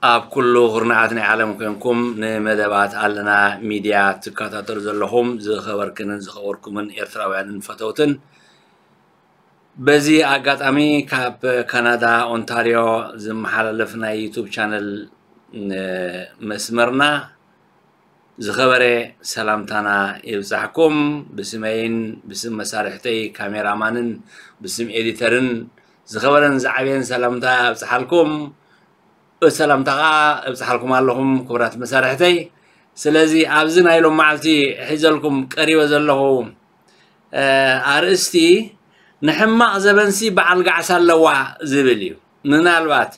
ኣብ ኩሉ ኩርናዓት ናይ ዓለም ኮንኩም ንመደባት ኣለና ሚድያ ትከታተሉ ዘለኹም ዝኸበርክንን ዝኸበርኩምን ኤርትራውያንን ፈተውትን፣ በዚ ኣጋጣሚ ካብ ካናዳ ኦንታርዮ ዝመሓላለፍ ናይ ዩቱብ ቻነል መስመርና ዝኸበረ ሰላምታና ይብጻሕኩም። ብስመይን ብስም መሳርሕተይ ካሜራማንን ብስም ኤዲተርን ዝኸበረን ዝዓበየን ሰላምታ ኣብጽሓልኩም። ሰላምታ ኸዓ እብጽሓልኩም ኣለኹም ክቡራት መሳርሕተይ። ስለዚ ኣብዚ ናይ ሎም መዓልቲ ሒዘልኩም ቀሪበ ዘለኹ ኣርእስቲ ንሕማቕ ዘበንሲ በዓል ጋዕሳ ኣለዋ ዝብል እዩ። ምናልባት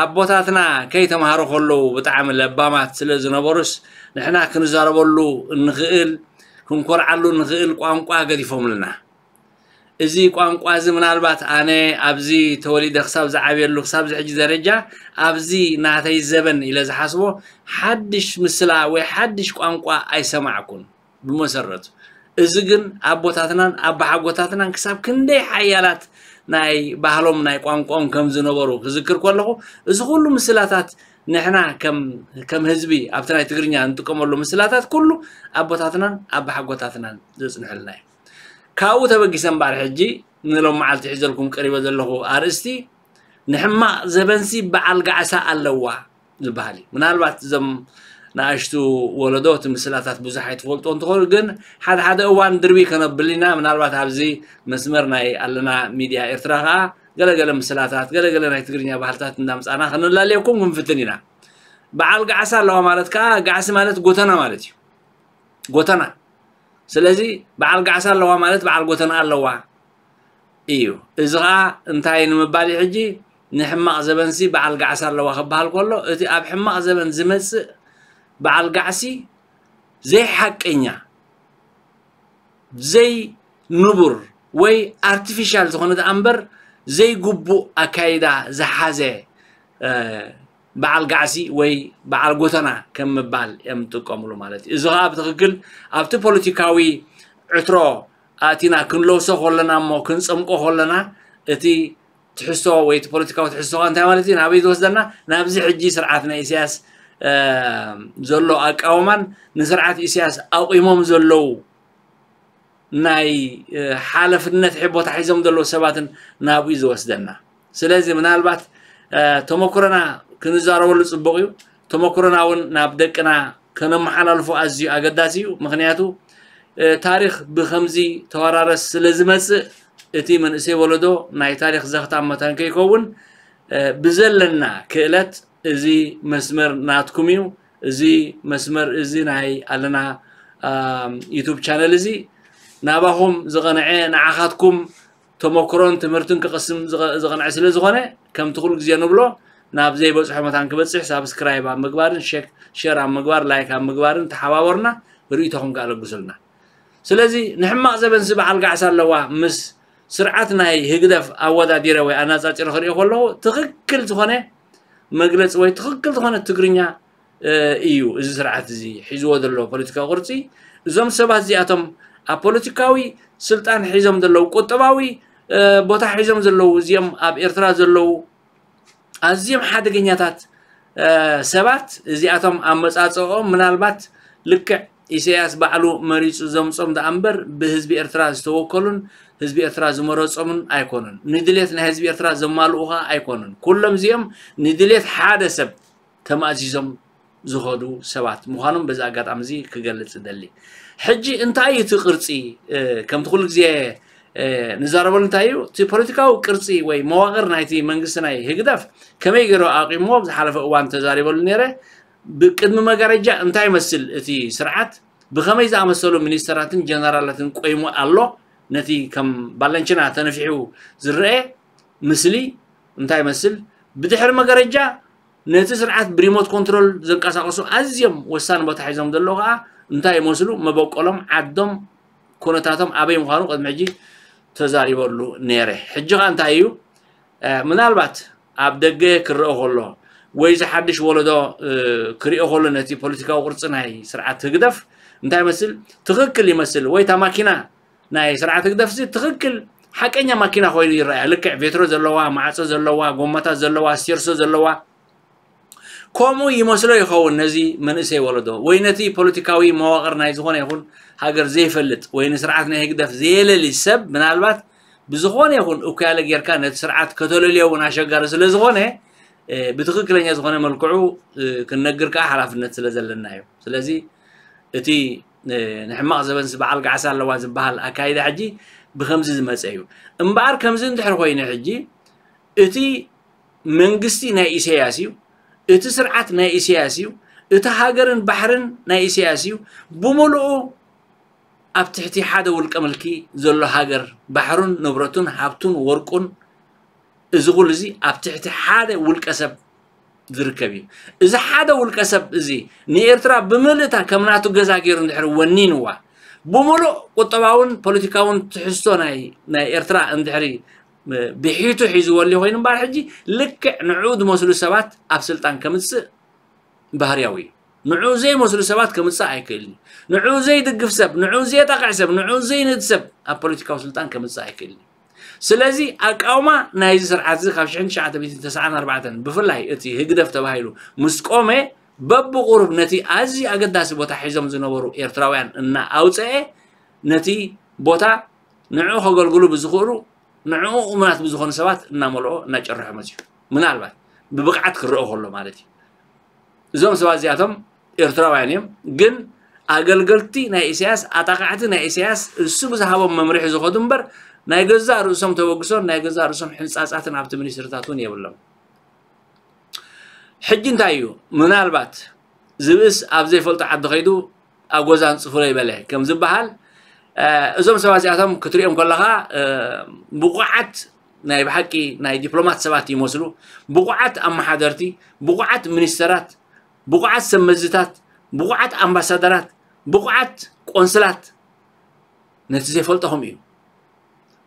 ኣቦታትና ከይተምሃሩ ከለዉ ብጣዕሚ ለባማት ስለ ዝነበሩስ ንሕና ክንዛረበሉ እንኽእል ክንኮርዓሉ እንኽእል ቋንቋ ገዲፎምልና። እዚ ቋንቋ እዚ ምናልባት ኣነ ኣብዚ ተወሊደ ክሳብ ዝዓብየሉ ክሳብ ዝሕጂ ደረጃ ኣብዚ ናተይ ዘበን ኢለ ዝሓስቦ ሓድሽ ምስላ ወይ ሓድሽ ቋንቋ ኣይሰማዕኩን። ብመሰረቱ እዚ ግን ኣቦታትናን ኣባሓጎታትናን ክሳብ ክንደይ ሓያላት ናይ ባህሎም ናይ ቋንቋኦም ከም ዝነበሩ ክዝክር ከለኹ እዚ ኩሉ ምስላታት ንሕና ከም ህዝቢ ኣብቲ ናይ ትግርኛ እንጥቀመሉ ምስላታት ኩሉ ኣቦታትናን ኣባሓጎታትናን ዘፅንሕልና እዩ። ካብኡ ተበጊሰ እምበኣር ሕጂ ንሎም መዓልቲ ሒዘልኩም ቀሪበ ዘለኹ ኣርእስቲ ንሕማቕ ዘበንሲ በዓል ጋዕሳ ኣለዋ ዝበሃል እዩ። ምናልባት እዞም ንኣሽቱ ወለዶ እቲ ምስላታት ብዙሕ ኣይትፈልጦ እንትኾኑ ግን ሓደ ሓደ እዋን ድርቢ ከነብል ኢና። ምናልባት ኣብዚ መስመር ናይ ኣለና ሚድያ ኤርትራ ከዓ ገለገለ ምስላታት ገለገለ ናይ ትግርኛ ባህልታት እንዳምፃና ከነላልየኩም ክንፍትን ኢና። በዓል ጋዕሳ ኣለዋ ማለት ከዓ ጋዕሲ ማለት ጎተና ማለት እዩ። ጎተና ስለዚ በዓል ጋዕሳ ኣለዋ ማለት በዓል ጎተና ኣለዋ እዩ። እዚ ኸዓ እንታይ ንምባል እዩ ሕጂ ንሕማቕ ዘበንሲ በዓል ጋዕሳ ኣለዋ ክበሃል ከሎ እቲ ኣብ ሕማቕ ዘበን ዝመፅእ በዓል ጋዕሲ ዘይሓቀኛ ዘይንቡር ወይ ኣርቲፊሻል ዝኾነ ደኣ እምበር ዘይግቡእ ኣካይዳ ዝሓዘ በዓል ጋዕሲ ወይ በዓል ጎተና ከም ምባል እዮም ዝጥቀምሉ ማለት እዩ። እዚ ከዓ ብትኽክል ኣብቲ ፖለቲካዊ ዕትሮ ኣእቲና ክንለውሶ ከለና እሞ ክንፀምቆ ከለና እቲ ትሕዝቶ ወይ እቲ ፖለቲካዊ ትሕዝቶ ከዓ እንታይ ማለት እዩ ናበይ ዝወስደና ናብዚ ሕጂ ስርዓት ናይ ኢሳያስ ዘሎ ኣቃውማን ንስርዓት ኢሳያስ ኣቑሞም ዘለዉ ናይ ሓለፍነት ቦታ ሒዞም ዘለዉ ሰባትን ናብኡ ዝወስደና። ስለዚ ምናልባት ተመክሮና ክንዛረበሉ ፅቡቕ እዩ። ተመክሮና እውን ናብ ደቅና ከነመሓላልፎ ኣዝዩ ኣገዳሲ እዩ። ምክንያቱ ታሪክ ብከምዚ ተወራረስ ስለ ዝመፅእ እቲ መንእሰይ ወለዶ ናይ ታሪክ ዘኽታም መታን ከይከውን ብዘለና ክእለት እዚ መስመር ናትኩም እዩ። እዚ መስመር እዚ ናይ ኣለና ዩቱብ ቻነል እዚ ናባኹም ዝቐንዐ ንዓኻትኩም ተመክሮን ትምህርትን ክቕስም ዝቐንዐ ስለ ዝኾነ ከምቲ ኩሉ ግዜ ንብሎ ናብ ዘይበፅሖ መታን ክበፅሕ ሳብስክራይብ ኣብ ምግባርን ሸር ኣብ ምግባር ላይክ ኣብ ምግባርን ተሓባበሩና። ርእይቶኹም ከኣ ለግሱልና። ስለዚ ንሕማቕ ዘበንሲ በዓል ጋዕሳ ኣለዋ ምስ ስርዓት ናይ ህግደፍ ኣወዳዲረ ወይ ኣነፃፂረ ክሪኦ ከለኹ ትኽክል ዝኾነ መግለፂ ወይ ትኽክል ዝኾነ ትግርኛ እዩ። እዚ ስርዓት እዚ ሒዝዎ ዘሎ ፖለቲካዊ ቅርፂ እዞም ሰባት እዚኣቶም ኣብ ፖለቲካዊ ስልጣን ሒዞም ዘለዉ ቁጠባዊ ቦታ ሒዞም ዘለዉ እዚኦም ኣብ ኤርትራ ዘለዉ ኣዝዮም ሓደገኛታት ሰባት እዚኣቶም ኣመፃፅኦም ምናልባት ልክዕ ኢሳያስ ባዕሉ መሪፁ ዘምፆም ደኣ እምበር ብህዝቢ ኤርትራ ዝተወከሉን ህዝቢ ኤርትራ ዝመረፆምን ኣይኮኑን። ንድሌት ናይ ህዝቢ ኤርትራ ዘማልኡ ከዓ ኣይኮኑን። ኩሎም እዚኦም ንድሌት ሓደ ሰብ ተማእዚዞም ዝኸዱ ሰባት ምዃኖም በዚ ኣጋጣሚ እዚ ክገልፅ እደሊ። ሕጂ እንታይ እዩ እቲ ቅርፂ? ከምቲ ኩሉ ግዜ ንዛረበሉ እንታይ እዩ እቲ ፖለቲካዊ ቅርፂ ወይ መዋቕር ናይቲ መንግስቲ ናይ ህግደፍ ከመይ ገይሩ ኣቂምዎ ብዝሓለፈ እዋን ተዛሪበሉ ነይረ። ብቅድሚ መጋረጃ እንታይ ይመስል እቲ ስርዓት ብኸመይ ዝኣመሰሉ ሚኒስተራትን ጀነራላትን ቆይሙ ኣሎ? ነቲ ከም ባለንችና ተነፊሑ ዝረአ ምስሊ እንታይ ይመስል? ብድሕሪ መጋረጃ ነቲ ስርዓት ብሪሞት ኮንትሮል ዘንቀሳቐሱ ኣዝዮም ወሳኒ ቦታ ሒዞም ዘለዉ ከዓ እንታይ ይመስሉ? መበቆሎም፣ ዓዶም፣ ኩነታቶም ኣበይ ምዃኑ ቅድሚ ሕጂ ተዛሪበሉ ነይረ። ሕጂ ከዓ እንታይ እዩ? ምናልባት ኣብ ደገ ክረአ ከሎ ወይ ዝሓድሽ ወለዶ ክሪኦ ከሎ ነቲ ፖለቲካዊ ቅርፂ ናይ ስርዓት ህግደፍ እንታይ ይመስል ትኽክል ይመስል ወይ እታ ማኪና ናይ ስርዓት ህግደፍ እዚ ትኽክል ሓቀኛ ማኪና ኮይኑ ይረኣያ። ልክዕ ቬትሮ ዘለዋ፣ ማዕፆ ዘለዋ፣ ጎማታት ዘለዋ፣ ስቴርሶ ዘለዋ፣ ከምኡ ይመስሎ ይኸውን ነዚ መንእሰይ ወለዶ፣ ወይ ነቲ ፖለቲካዊ መዋቕር ናይ ዝኾነ ይኹን ሃገር ዘይፈልጥ፣ ወይ ንስርዓት ናይ ህግደፍ ዘየለሊ ሰብ፣ ምናልባት ብዝኾነ ይኹን እኩያለ ጌርካ ነቲ ስርዓት ከተለልዮ እውን ኣሸጋሪ ስለ ዝኾነ፣ እ፣ ብትኽክለኛ ዝኾነ መልክዑ፣ እ፣ ክንነግር ከኣ ሓላፍነት ስለ ዘለና እዩ። ስለዚ እቲ፣ እ፣ ንሕማቕ ዘበንስ በዓል ጋዕሳ ኣለዋ ዝበሃል ኣካይዳ ሕጂ ብኸምዚ ዝመጸ እዩ። እምበኣር ከምዚ እንድሕር ኮይኑ ሕጂ እቲ መንግስቲ ናይ ኢሳያስ እዩ፣ እቲ ስርዓት ናይ ኢሳያስ እዩ፣ እቲ ሃገርን ባሕርን ናይ ኢሳያስ እዩ። ብምሉኡ ኣብ ትሕቲ ሓደ ውልቀ ምልኪ ዘሎ ሃገር፣ ባሕሩን ንብረቱን ሃብቱን ወርቁን፣ እዚ ኩሉ እዚ ኣብ ትሕቲ ሓደ ውልቀ ሰብ ዝርከብ እዩ። እዚ ሓደ ውልቀ ሰብ እዚ ንኤርትራ ብምልእታ ከም ናቱ ገዛ ገይሩ እንድሕር ወኒንዋ፣ ብምሉእ ቁጠባውን ፖለቲካውን ትሕዝቶ ናይ፣ ናይ ኤርትራ እንድሕሪ ብሒቱ ሒዝዎ ኣሎ ኮይኑ እምበኣር፣ ሕጂ ልክዕ ንዕኡ ዝመስሉ ሰባት ኣብ ስልጣን ከምጽእ ባህርያዊ እዩ። ንዕኡ ዘይመስሉ ሰባት ከምጽእ ኣይክእልን እዩ። ንዕኡ ዘይድግፍ ሰብ፣ ንዕኡ ዘየጣቕዕ ሰብ፣ ንዕኡ ዘይንእድ ሰብ ኣብ ፖለቲካዊ ስልጣን ከምጽእ ኣይክእልን እዩ። ስለዚ ኣቃውማ ናይዚ ስርዓት እዚ ካብ ሽሕን ትሽዓተ ሚእትን ተስዓን ኣርባዕተን ብፍላይ እቲ ህግደፍ ተባሂሉ ምስ ቆመ፣ በብቑሩብ ነቲ ኣዝዩ ኣገዳሲ ቦታ ሒዞም ዝነበሩ ኤርትራውያን እናኣውጸኤ፣ ነቲ ቦታ ንዕኡ ከገልግሉ ብዝኽእሉ፣ ንዕኡ እሙናት ብዝኾኑ ሰባት እናመልኦ እናጨርሖ መጺኡ። ምናልባት ብብቕዓት ክረኦ ከሎ ማለት እዩ። እዞም ሰባት እዚኣቶም ኤርትራውያን እዮም፣ ግን ኣገልገልቲ ናይ ኢሳያስ፣ ኣጣቃዕቲ ናይ ኢሳያስ፣ እሱ ብዝሃቦም መምርሒ ዝኸዱ እምበር፣ ናይ ገዛእ ርእሶም ተበግሶን ናይ ገዛእ ርእሶም ሕንጻጻትን ኣብቲ ሚኒስትርታት እውን የብሎም። ሕጂ እንታይ እዩ? ምናልባት ዝብእስ ኣብ ዘይፈልጦ ዓዲ ከይዱ ኣብ ጎዛ ኣንጽፉለይ በለ ከም ዝበሃል፣ እ፣ እዞም ሰባት እዚኣቶም ክትሪኦም ከለኻ፣ እ፣ ብቑዓት ናይ ብሓቂ ናይ ዲፕሎማት ሰባት ይመስሉ፣ ብቑዓት ኣመሓደርቲ፣ ብቑዓት ሚኒስተራት፣ ብቑዓት ሰብ መዝታት፣ ብቑዓት ኣምባሳደራት፣ ብቑዓት ቆንስላት፣ ነቲ ዘይፈልጦ ከምኡ እዩ።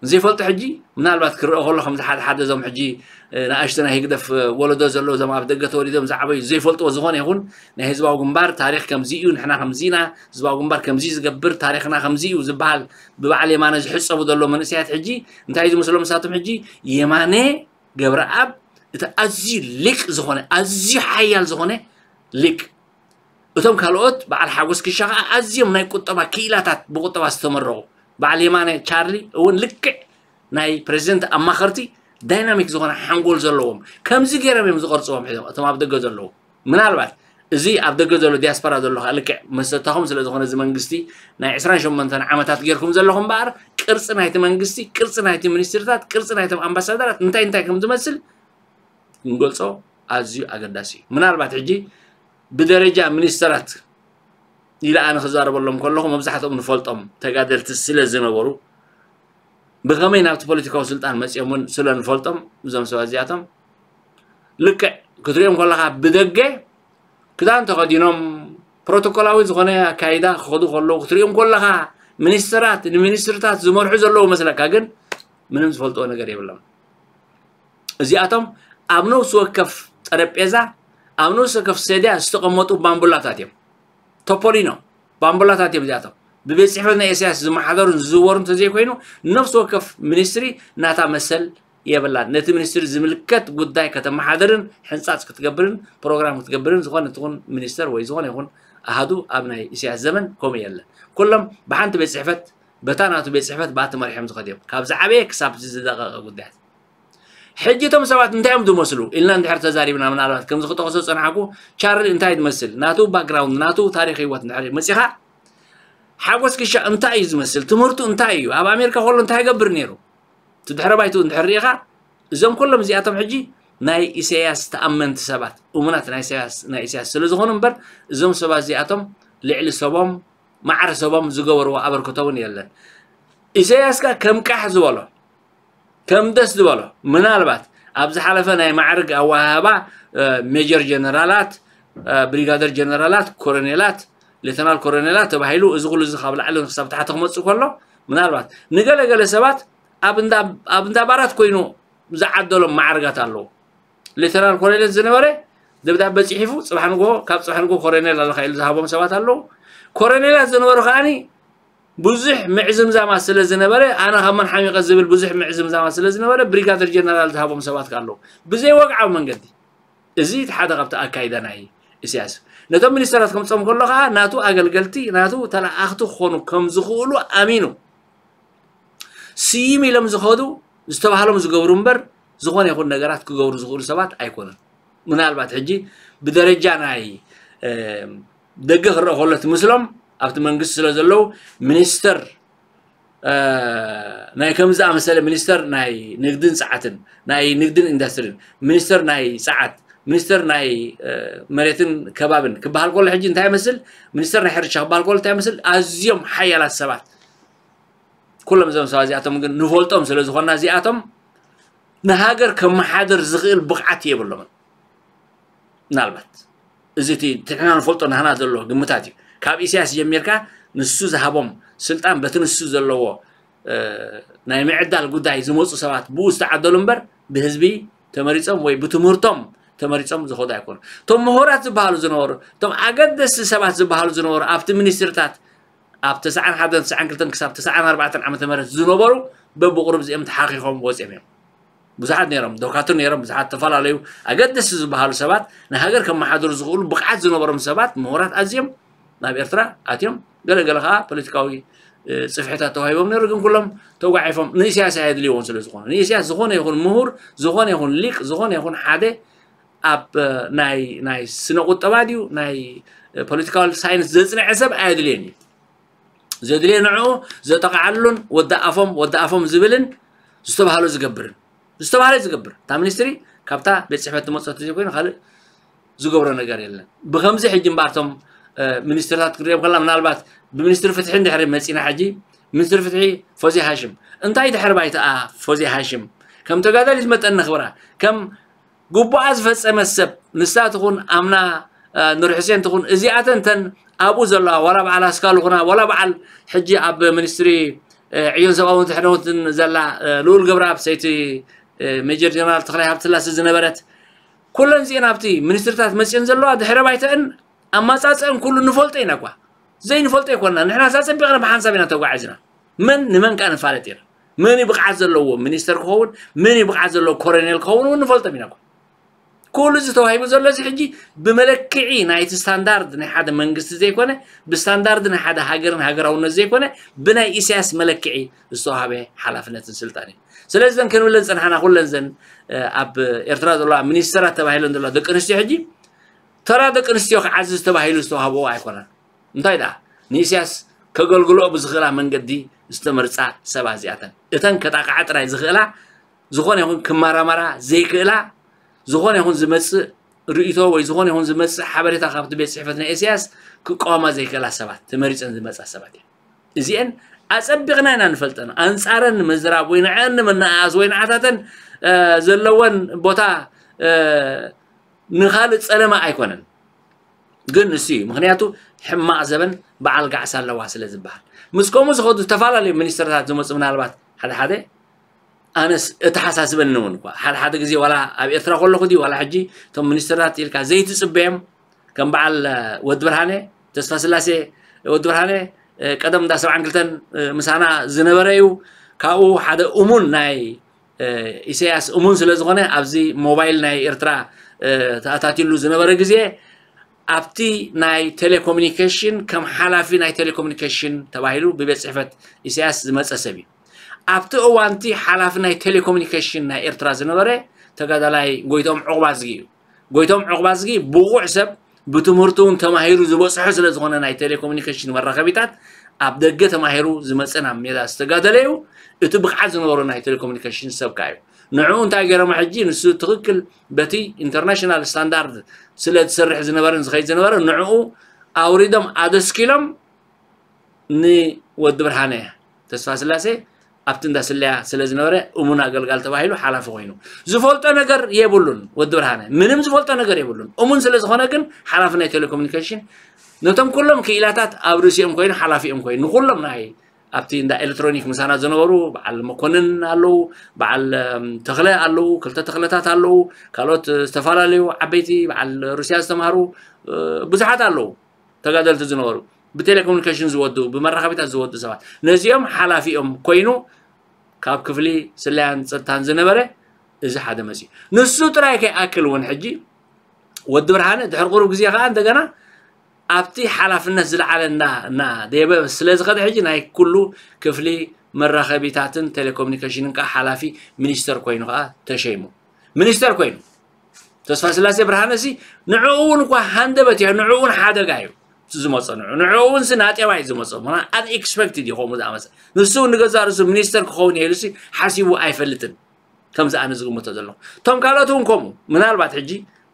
ዘይፈልጦ ሕጂ ምናልባት ክረኦ ከሎ ከምዚ ሓደ ሓደ እዞም ሕጂ፣ እ፣ ንኣሽቱ ናይ ህግደፍ፣ እ፣ ወለዶ ዘለዉ እዞም ኣብ ደገ ተወሊዶም ዝዓበዩ ዘይፈልጥዎ ዝኾነ ይኹን ናይ ህዝባዊ ግንባር ታሪኽ ከምዚ እዩ፣ ንሕና ከምዚ ኢና፣ ህዝባዊ ግንባር ከምዚ ዝገብር፣ ታሪኽና ከምዚ እዩ ዝበሃል ብበዓል የማነ ዝሕጸቡ ዘለዉ መንእሰያት ሕጂ እንታይ እዩ ዝመስሎም ንሳቶም ሕጂ? የማነ ገብረኣብ እቲ ኣዝዩ ሊቅ ዝኾነ፣ ኣዝዩ ሓያል ዝኾነ ሊቅ። እቶም ካልኦት በዓል ሓጎስ ክሻ ኸዓ ኣዝዮም ናይ ቁጠባ ክኢላታት ብቁጠባ ዝተመረቑ። በዓል የማነ ቻርሊ እውን ልክዕ ናይ ፕሬዚደንት ኣማኸርቲ ዳይናሚክ ዝኾነ ሓንጎል ዘለዎም። ከምዚ ገይሮም እዮም ዝቐርጽዎም ሕዞም እቶም ኣብ ደገ ዘለዉ። ምናልባት እዚ ኣብ ደገ ዘሎ ዲያስፖራ ዘሎ ኸዓ ልክዕ መሰታኹም ስለ ዝኾነ እዚ መንግስቲ ናይ ዕስራን ሸሞንተን ዓመታት ጌርኩም ዘለኹም እምበኣር ቅርጺ ናይቲ መንግስቲ፣ ቅርጺ ናይቲ ሚኒስትርታት፣ ቅርጺ ናይቶም ኣምባሳደራት እንታይ እንታይ ከም ዝመስል ክንገልጾ ኣዝዩ ኣገዳሲ እዩ። ምናልባት ሕጂ ብደረጃ ሚኒስተራት ኢለ ኣነ ክዛረበሎም ከለኹ መብዛሕትኦም ንፈልጦም ተጋደልቲ ስለ ዝነበሩ ብኸመይ ናብቲ ፖለቲካዊ ስልጣን መጺኦም እውን ስለ ንፈልጦም እዞም ሰባት እዚኣቶም ልክዕ ክትሪኦም ከለኻ ብደገ ክዳን ተኸዲኖም ፕሮቶኮላዊ ዝኾነ ኣካይዳ ክኸዱ ከለዉ ክትሪኦም ከለኻ ሚኒስተራት ንሚኒስትርታት ዝመርሑ ዘለዉ መስለካ፣ ግን ምንም ዝፈልጥዎ ነገር የብሎም። እዚኣቶም ኣብ ነፍሲ ወከፍ ጠረጴዛ፣ ኣብ ነፍሲ ወከፍ ሰድያ ዝተቐመጡ ባምቡላታት እዮም። ቶፖሊኖ ባምቡላታት እዮም እዚኣቶም። ብቤት ጽሕፈት ናይ ኢሳያስ ዝመሓደሩን ዝዝወሩ እንተዘይኮይኑ፣ ነፍሲ ወከፍ ሚኒስትሪ ናታ መሰል የብላን። ነቲ ሚኒስትሪ ዝምልከት ጉዳይ ከተመሓደርን ሕንጻጽ ክትገብርን ፕሮግራም ክትገብርን ዝኾነ ትኹን ሚኒስተር ወይ ዝኾነ ይኹን ኣሃዱ ኣብ ናይ ኢሳያስ ዘመን ከምኡ የለን። ኩሎም ብሓንቲ ቤት ጽሕፈት፣ በታ ናቱ ቤት ጽሕፈት ብኣ ተመሪሖም ዝኸዱ እዮም። ካብ ዝዓበየ ክሳብ ዝደቐቐ ጉዳያት። ሕጂ እቶም ሰባት እንታይ እዮም ዝመስሉ ኢልና እንድሕር ተዛሪብና፣ ምናልባት ከምዚ ክጠቕሶ ዝጸናሕኩ፣ ቻርሊ እንታይ ዝመስል፣ ናቱ ባክግራውንድ፣ ናቱ ታሪኽ ህይወት እንድሕር መጺኻ፣ ሓጎስ ክሻ እንታይ እዩ ዝመስል፣ ትምህርቱ እንታይ እዩ፣ ኣብ ኣሜሪካ ከሎ እንታይ ይገብር ነይሩ፣ እቲ ድሕረ ባይትኡ እንድሕር ርኢኻ፣ እዞም ኩሎም እዚኣቶም ሕጂ ናይ ኢሳያስ ተኣመንቲ ሰባት፣ እሙናት ናይ ኢሳያስ፣ ናይ ኢሳያስ ስለ ዝኾኑ እምበር፣ እዞም ሰባት እዚኣቶም ልዕሊ ሰቦም፣ ማዕረ ሰቦም ዝገበርዎ ኣበርክቶ እውን የለን። ኢሳያስ ከ ከም ቃሕ ዝበሎ፣ ከም ደስ ዝበሎ፣ ምናልባት ኣብ ዝሓለፈ ናይ ማዕርግ ኣወሃህባ፣ እ፣ ሜጀር ጀነራላት፣ እ፣ ብሪጋደር ጀነራላት፣ ኮሎኔላት፣ ሌተናል ኮሎኔላት ተባሂሉ፣ እዚ ኩሉ እዚ ካብ ላዕሊ ክሳብ ታሕቲ ክመጽእ ከሎ፣ ምናልባት ንገለ ገለ ሰባት ኣብ እንዳ፣ ኣብ እንዳ ባራት ኮይኑ ዝዓደሎም ማዕርጋት ኣለዉ። ሌተናል ኮሎኔል ዝነበረ ደብዳበ ጽሒፉ፣ ጽባሕ ንግሆ፣ ካብ ጽባሕ ንግሆ ኮሎኔል ኣለኻ ኢሉ ዝሃቦም ሰባት ኣለዉ። ኮሎኔላት ዝነበሩ ከኣኒ ብዙሕ ምዕዝምዛማ ስለ ዝነበረ፣ ኣነ ካብ መን ሓሚቐ ዝብል ብዙሕ ምዕዝምዛማ ስለ ዝነበረ፣ ብሪጋደር ጀነራል ዝሃቦም ሰባት ከኣ ኣለዉ። ብዘይ ወግዓዊ መንገዲ። እዚ እቲ ሓደ ካብቲ ኣካይዳ ናይ ኢሳያስ። ነቶም ሚኒስተራት ከምጾም ከሎ ከዓ ናቱ ኣገልገልቲ፣ ናቱ ተለኣኽቲ ክኾኑ ከም ዝኽእሉ ኣሚኑ፣ ስይም ኢሎም ዝኸዱ፣ ዝተባህሎም ዝገብሩ እምበር፣ ዝኾነ ይኹን ነገራት ክገብሩ ዝኽእሉ ሰባት ኣይኮኑን። ምናልባት ሕጂ ብደረጃ ናይ ደገ ክረአ ከሎ እቲ ምስሎም ኣብቲ መንግስቲ ስለ ዘለዉ፣ ሚኒስተር ናይ ከምዚ ኣመሰለ ሚኒስተር ናይ ንግድን ጸዓትን፣ ናይ ንግድን ኢንዱስትሪን፣ ሚኒስተር ናይ ጸዓት፣ ሚኒስተር ናይ መሬትን ከባብን ክበሃል ከሎ ሕጂ እንታይ ይመስል? ሚኒስተር ናይ ሕርሻ ክበሃል ከሎ እንታይ ይመስል? ኣዝዮም ሓያላት ሰባት። ኩሎም እዞም ሰባት እዚኣቶም ግን ንፈልጦም ስለ ዝኾንና እዚኣቶም ንሃገር ከመሓድር ዝኽእል ብቕዓት የብሎምን። ምናልባት እዚ እቲ ንሕና ንፈልጦ ናህና ዘሎ ግምታት እዩ። ካብ ኢሳያስ ጀሚርካ ንሱ ዝሃቦም ስልጣን በቲ ንሱ ዘለዎ ናይ ምዕዳል ጉዳይ ዝመፁ ሰባት ብኡ ዝተዓደሉ እምበር ብህዝቢ ተመሪፆም ወይ ብትምህርቶም ተመሪፆም ዝኸዱ ኣይኮኑ። እቶም ምሁራት ዝበሃሉ ዝነበሩ፣ እቶም ኣገደስቲ ሰባት ዝበሃሉ ዝነበሩ ኣብቲ ሚኒስትርታት ኣብ ተስዓን ሓደን ተስዓን ክልተን ክሳብ ተስዓን ኣርባዕተን ዓመተ ምህረት ዝነበሩ በብቑሩብ እዚኦም ተሓኺኾም ወፂኦም እዮም። ብዙሓት ነይሮም፣ ዶካትር ነይሮም፣ ብዙሓት ተፈላለዩ ኣገደስቲ ዝበሃሉ ሰባት ንሃገር ከመሓድሩ ዝኽእሉ ብቕዓት ዝነበሮም ሰባት ምሁራት ኣዝዮም ናብ ኤርትራ ኣትዮም፣ ገለገለ ከዓ ፖለቲካዊ ጽፍሕታት ተዋሂቦም ነይሩ። ግን ኩሎም ተጓዒፎም ንኢሳያስ ኣየድልይዎን ስለ ዝኾነ፣ ንኢሳያስ ዝኾነ ይኹን ምሁር፣ ዝኾነ ይኹን ሊቅ፣ ዝኾነ ይኹን ሓደ ኣብ ናይ ናይ ስነ ቁጠባ ድዩ ናይ ፖለቲካል ሳይንስ ዘጽንዐ ሰብ ኣየድልየን እዩ። ዘድልየ ንዕኡ ዘጠቕዓሉን ወዲ ኣፎም ወዲ ኣፎም ዝብልን ዝተባህሎ ዝገብርን ዝተባህለ ዝገብር እታ ሚኒስትሪ ካብታ ቤት ጽሕፈት ትመፅእ ተዘይኮይኑ ካልእ ዝገብሮ ነገር የለን። ብከምዚ ሕጂ እምበኣርቶም ሚኒስትርታት ክንሪኦም ከላ ምናልባት ብሚኒስትሪ ፍትሒ እንድሕሪ መፂና ሕጂ ሚኒስትሪ ፍትሒ ፎዚ ሃሽም እንታይ ድሕሪ ባይተኣ ፎዚ ሃሽም ከም ተጋዳሊት መጠን ነኽብራ ከም ግቡኣ ዝፈጸመት ሰብ ንሳ ትኹን ኣምና ኑር ሕሴን ትኹን እዚኣተን ተን ኣብኡ ዘለዋ ዋላ በዓል ኣስካሉ ኹና ዋላ በዓል ሕጂ ኣብ ሚኒስትሪ ዕዮን ሰብኣዊ ድሕነትን ዘላ ልኡል ገብረኣብ ሰይቲ ሜጀር ጀነራል ተኽላይ ሃብትስላሴ ዝነበረት ኩለን እዚአን ኣብቲ ሚኒስትርታት መፅየን ዘለዋ ድሕረ ባይተአን ኣማፃፅአን ኩሉ ንፈልጦ ኢና እኳ ዘይንፈልጦ ኣይኮንና ንሕና ሳፀቢቕና ብሓንሳብ ኢና ተጓዒዝና መን ንመን ከዓ ንፋለጥ ኢና መን ብቕዓት ዘለዎ ሚኒስተር ክኸውን መን ብቕዓት ዘለዎ ኮረኔል ክኸውን እውን ንፈልጦም ኢና እኳ ኩሉ እዚ ተዋሂቡ ዘሎ እዚ ሕጂ ብመለክዒ ናይቲ ስታንዳርድ ናይ ሓደ መንግስቲ ዘይኮነ ብስታንዳርድ ናይ ሓደ ሃገርን ሃገራውነት ዘይኮነ ብናይ ኢሳያስ መለክዒ ዝተዋሃበ ሓላፍነትን ስልጣን እዩ። ስለዚ ዘን ክንብለን ፀንሓና ኩለን ዘን ኣብ ኤርትራ ዘለዋ ሚኒስተራት ተባሂለን ዘለዋ ደቂ ኣንስትዮ ሕጂ ተራ ደቂ ኣንስትዮ ክዓዝዝ ተባሂሉ ዝተዋህበኦ ኣይኮነን። እንታይ ደኣ ንኢሳያስ ከገልግልኦ ብዝኽእላ መንገዲ ዝተመርጻ ሰባት እዚኣተን እተን ከጣቕዓ ጥራይ ዝኽእላ ዝኾነ ይኹን ክመራመራ ዘይክእላ ዝኾነ ይኹን ዝመጽእ ርእይቶ ወይ ዝኾነ ይኹን ዝመጽእ ሓበሬታ ካብቲ ቤት ጽሕፈት ናይ ኢሳያስ ክቃወማ ዘይክእላ ሰባት ተመሪጸን ዝመጻ ሰባት እየን። እዚአን ኣጸቢቕና ኢና ንፈልጠን። ኣንጻረን ንምዝራብ ወይ ንዐን ንምንእኣስ ወይ ንዓታተን ዘለወን ቦታ ንኻልእ ጸለመ ኣይኮነን። ግን ንሱ እዩ ምኽንያቱ ሕማቕ ዘበን በዓል ጋዕሳ ኣለዋ ስለ ዝበሃል ምስ ከምኡ ዝኸዱ ዝተፈላለዩ ሚኒስትርታት ዝመፁ ምናልባት ሓደ ሓደ ኣነስ እተሓሳስበኒ እውን እኳ ሓደ ሓደ ግዜ ዋላ ኣብ ኤርትራ ከለኹ ድዩ ዋላ ሕጂ እቶም ሚኒስትርታት ኢልካ ዘይትፅበዮም ከም በዓል ወዲ ብርሃነ ተስፋ ስላሴ ወዲ ብርሃነ ቀደም እንዳ ሰብዓን ክልተን ምሳና ዝነበረ እዩ ካብኡ ሓደ እሙን ናይ ኢሳያስ እሙን ስለ ዝኾነ ኣብዚ ሞባይል ናይ ኤርትራ ተኣታቲሉ ዝነበረ ግዜ ኣብቲ ናይ ቴሌኮሙኒኬሽን ከም ሓላፊ ናይ ቴሌኮሙኒኬሽን ተባሂሉ ብቤት ጽሕፈት ኢሳያስ ዝመጸ ሰብ እዩ። ኣብቲ እዋንቲ ሓላፊ ናይ ቴሌኮሙኒኬሽን ናይ ኤርትራ ዝነበረ ተጋዳላይ ጎይቶም ዑቕባዝጊ እዩ። ጎይቶም ዑቕባዝጊ ብቑዕ ሰብ ብትምህርቱ እውን ተማሂሩ ዝበፅሖ ስለ ዝኾነ ናይ ቴሌኮሙኒኬሽን መራኸቢታት ኣብ ደገ ተማሂሩ ዝመፀ ናብ ሜዳ ዝተጋደለ እዩ። እቲ ብቕዓት ዝነበሮ ናይ ቴሌኮሙኒኬሽን ሰብ ከዓ እዩ። ንዕኡ እንታይ ገይሮሞ ሕጂ ንሱ ትኽክል በቲ ኢንተርናሽናል ስታንዳርድ ስለ ዝሰርሕ ዝነበረን ዝኸይድ ዝነበረ ንዕኡ ኣውሪዶም ኣደስኪሎም ንወዲ ብርሃነ ተስፋ ስላሴ ኣብቲ እንዳ ስለያ ስለ ዝነበረ እሙን ኣገልጋል ተባሂሉ ሓላፊ ኮይኑ ዝፈልጦ ነገር የብሉን። ወዲ ብርሃነ ምንም ዝፈልጦ ነገር የብሉን። እሙን ስለ ዝኾነ ግን ሓላፊ ናይ ቴሌኮሙኒኬሽን ነቶም ኩሎም ክኢላታት ኣብ ርእሲኦም ኮይኑ ሓላፊኦም ኮይኑ ንኩሎም ናይ ኣብቲ እንዳ ኤሌክትሮኒክ ምሳና ዝነበሩ በዓል መኮንን ኣለዉ፣ በዓል ተኽለ ኣለዉ፣ ክልተ ተኽለታት ኣለዉ፣ ካልኦት ዝተፈላለዩ ዓበይቲ በዓል ሩስያ ዝተምሃሩ ብዙሓት ኣለዉ። ተጋደልቲ ዝነበሩ ብቴሌኮሙኒኬሽን ዝወዱ ብመራኸቢታት ዝወዱ ሰባት ነዚኦም ሓላፊኦም ኮይኑ ካብ ክፍሊ ስለያን ፀጥታን ዝነበረ እዚ ሓደ መፅዩ ንሱ ጥራይ ከይኣክል እውን ሕጂ ወዲ ብርሃነ ድሕሪ ቁሩብ ግዜ ከዓ እንደገና ኣብቲ ሓላፍነት ዝለዓለ እና እና ደየበ ስለ ዝኸደ ሕጂ ናይ ኩሉ ክፍሊ መራኸቢታትን ቴሌኮሙኒኬሽንን ከዓ ሓላፊ ሚኒስተር ኮይኑ ከዓ ተሸይሙ። ሚኒስተር ኮይኑ ተስፋ ስላሴ ብርሃነ ሲ ንዕኡ እውን እኳ ሃንደበት እዩ፣ ንዕኡ እውን ሓደጋ እዩ እቲ ዝመፆ። ንዑ ንዕኡ እውን ሲ ናጤባ እዩ ዝመፆ። ምና ኣንኤክስፐክትድ እዩ ከምኡ ዝኣመፀ። ንሱ እውን ንገዛ ርእሱ ሚኒስተር ክኸውን እየ ኢሉ ሲ ሓሲቡ ኣይፈልጥን። ከምዚ ኣነ ዝግምቶ ዘለኹ። እቶም ካልኦት እውን ከምኡ። ምናልባት ሕጂ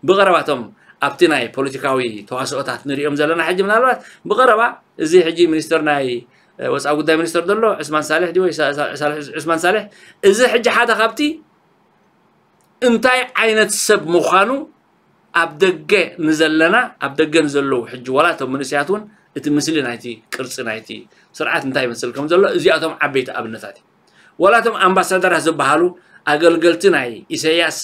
ብቐረባ እቶም ኣብቲ ናይ ፖለቲካዊ ተዋስኦታት ንሪኦም ዘለና ሕጂ ምናልባት ብቐረባ እዚ ሕጂ ሚኒስተር ናይ ወፃኢ ጉዳይ ሚኒስተር ዘሎ ዑስማን ሳልሕ ድዩ ወይ ሳ- ሳ- ሳልሕ ዑስማን ሳልሕ፣ እዚ ሕጂ ሓደ ካብቲ እንታይ ዓይነት ሰብ ምዃኑ ኣብ ደገ ንዘለና ኣብ ደገ ንዘለዉ ሕጂ ዋላ እቶም መንእሰያት እውን እቲ ምስሊ ናይቲ ቅርፂ ናይቲ ስርዓት እንታይ ይመስል ከም ዘሎ እዚኣቶም ዓበይቲ ኣብነታት እዩ። ዋላ እቶም ኣምባሳደራት ዝበሃሉ ኣገልገልቲ ናይ ኢሳያስ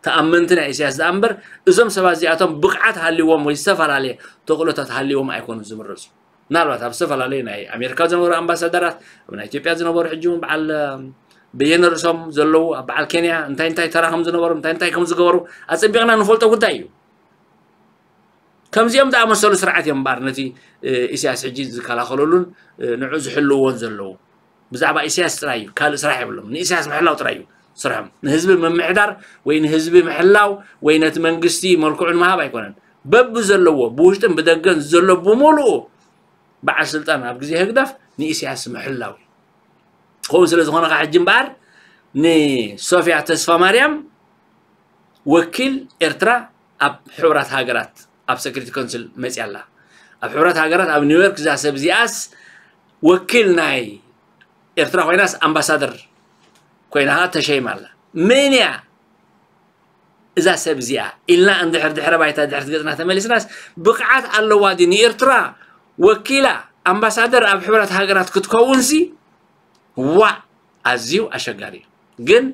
ተኣመንቲ ናይ ኢሳያስ ደኣ እምበር እዞም ሰባት እዚኣቶም ብቕዓት ሃልዎም ወይ ዝተፈላለየ ተኽእሎታት ሃልዎም ኣይኮኑን ዝምረፁ። ምናልባት ኣብ ዝተፈላለዩ ናይ ኣሜሪካ ዝነበሩ ኣምባሳደራት ኣብ ናይ ኢትዮጵያ ዝነበሩ ሕጂ እውን በዓል በየነ ርእሶም ዘለዉ ኣብ በዓል ኬንያ እንታይ እንታይ ተራ ከም ዝነበሩ እንታይ እንታይ ከም ዝገበሩ ኣፀቢቕና ንፈልጦ ጉዳይ እዩ። ከምዚኦም ዝኣመሰሉ ስርዓት እዮም እምበኣር ነቲ ኢሳያስ ሕጂ ዝከላኸለሉን ንዑ ዝሕልውዎን ዘለዉ። ብዛዕባ ኢሳያስ ጥራይ እዩ፣ ካልእ ስራሕ የብሎም። ንኢሳያስ ምሕላው ጥራይ እዩ ስርሖም። ንህዝቢ ምምሕዳር ወይ ንህዝቢ ምሕላው ወይ ነቲ መንግስቲ መልክዑ ንምሃብ ኣይኮነን። በብዘለዎ ብውሽጥን ብደገን ዘሎ ብምሉኡ በዓል ስልጣን ኣብ ግዜ ህግደፍ ንኢሳያስ ምሕላው እዩ። ከምኡ ስለ ዝኾነ ከዓ ሕጂ እምበኣር ንሶፊያ ተስፋ ማርያም ወኪል ኤርትራ ኣብ ሕቡራት ሃገራት ኣብ ሰክሪቲ ኮንስል መፅያ ኣላ። ኣብ ሕቡራት ሃገራት ኣብ ኒውዮርክ እዛ ሰብ እዚኣስ ወኪል ናይ ኤርትራ ኮይናስ ኣምባሳደር ኮይና ከዓ ተሸይማ ኣላ። መን እያ እዛ ሰብ እዚኣ ኢልና እንድሕር ድሕረ ባይታ ድሕርቲ ገፅና ተመሊስናስ ብቕዓት ኣለዋ ድዩ ንኤርትራ ወኪላ ኣምባሳደር ኣብ ሕቡራት ሃገራት ክትከውን ሲ ዋእ ኣዝዩ ኣሸጋሪ እዩ። ግን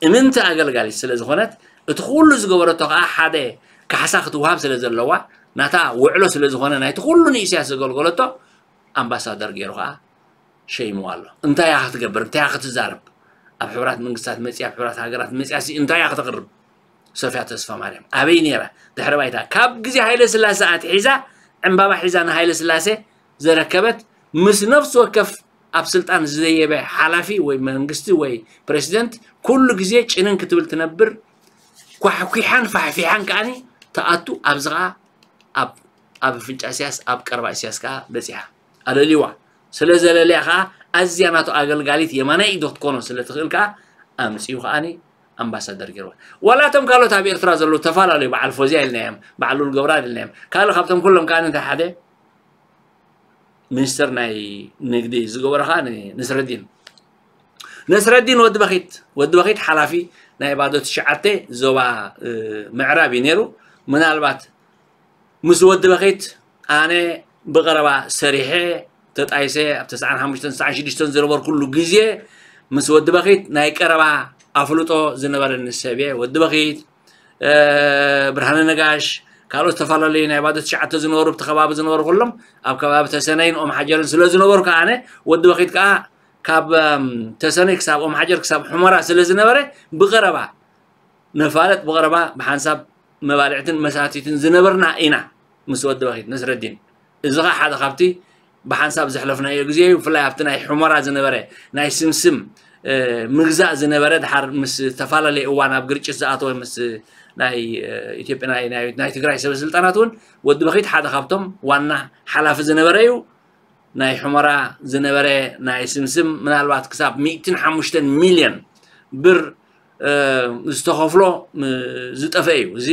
እምንቲ ኣገልጋሊት ስለ ዝኾነት እቲ ኩሉ ዝገበረቶ ከዓ ሓደ ካሕሳ ክትወሃብ ስለ ዘለዋ ናታ ውዕሎ ስለ ዝኾነ ናይቲ ኩሉ ንኢሳያስ ዘገልገለቶ ኣምባሳደር ገይሩ ከዓ ሸይምዋ ኣሎ። እንታይ እያ ክትገብር? እንታይ እያ ክትዛረብ? ኣብ ሕቡራት መንግስታት መፅያ ኣብ ሕቡራት ሃገራት መፅያ ሲ እንታይ እያ ክተቕርብ? ሶፊያ ተስፋ ማርያም ኣበይ ነይራ? ድሕሪ ባይታ ካብ ግዜ ሃይለ ስላሴ ኣትሒዛ ዕምባባ ሒዛ ንሃይለ ስላሴ ዘረከበት ምስ ነፍሲ ወከፍ ኣብ ስልጣን ዝደየበ ሓላፊ ወይ መንግስቲ ወይ ፕሬዚደንት ኩሉ ግዜ ጭንን ክትብል ትነብር ኳሕኲሓን ፋሕፊሓን ከዓኒ ተኣቱ ኣብዚ ከዓ ኣብ ኣብ ኣፍንጫ ኢሳያስ ኣብ ቀረባ ኢሳያስ ከዓ በፂሓ ኣለልዋ ስለ ዘለለያ ከዓ ኣዝያ ናቱ ኣገልጋሊት የማናይ ኢዶ ክትኮኖ ስለ ትኽእል ከዓ ኣምፅኡ ከዓኒ ኣምባሳደር ገይርዋ ዋላ እቶም ካልኦት ኣብ ኤርትራ ዘለዉ ተፈላለዩ በዓል ፎዝያ ኢልናዮም በዓል ሉል ገብረኣብ ኢልናዮም ካልእ ካብቶም ኩሎም ከዓ እንታይ ሓደ ሚኒስተር ናይ ንግዲ ዝገበረ ከዓ ንስረዲን ነስረዲን ወዲ በኺት ወዲ በኺት ሓላፊ ናይ ባዶ ትሽዓተ ዞባ ምዕራብ እዩ ነይሩ ምናልባት ምስ ወዲ በኺት ኣነ ብቐረባ ሰሪሐ ተጣይሰ ኣብ ተስዓን ሓሙሽተን ተስዓን ሽዱሽተን ዝነበርኩሉ ግዜ ምስ ወዲ በኺት ናይ ቀረባ ኣፍልጦ ዝነበረኒ ሰብ እየ ወዲ በኺት ብርሃነ ነጋሽ ካልኦት ዝተፈላለዩ ናይ ባዶ ትሽዓተ ዝነበሩ ብቲ ከባቢ ዝነበሩ ኩሎም ኣብ ከባቢ ተሰነይን ኦም ሓጀርን ስለ ዝነበሩ ከዓ ኣነ ወዲ በኺት ከዓ ካብ ተሰነይ ክሳብ ኦም ሓጀር ክሳብ ሑመራ ስለ ዝነበረ ብቐረባ ንፋለጥ ብቐረባ ብሓንሳብ መባልዕትን መሳቲትን ዝነበርና ኢና ምስ ወዲ በኺት ነስረዲን እዚ ከዓ ሓደ ካብቲ ብሓንሳብ ዘሕለፍናዮ ግዜ እዩ ብፍላይ ኣብቲ ናይ ሑመራ ዝነበረ ናይ ስምስም ምግዛእ ዝነበረ ድሓር ምስ ዝተፈላለየ እዋን ኣብ ግርጭት ዝኣተወ ምስ ናይ ኢትዮጵያ ናይ ትግራይ ሰበስልጣናት እውን ወዲ በኺት ሓደ ካብቶም ዋና ሓላፊ ዝነበረ እዩ ናይ ሑመራ ዝነበረ ናይ ስምስም ምናልባት ክሳብ ሚእትን ሓሙሽተን ሚልዮን ብር ዝተኸፍሎ ዝጠፈ እዩ እዚ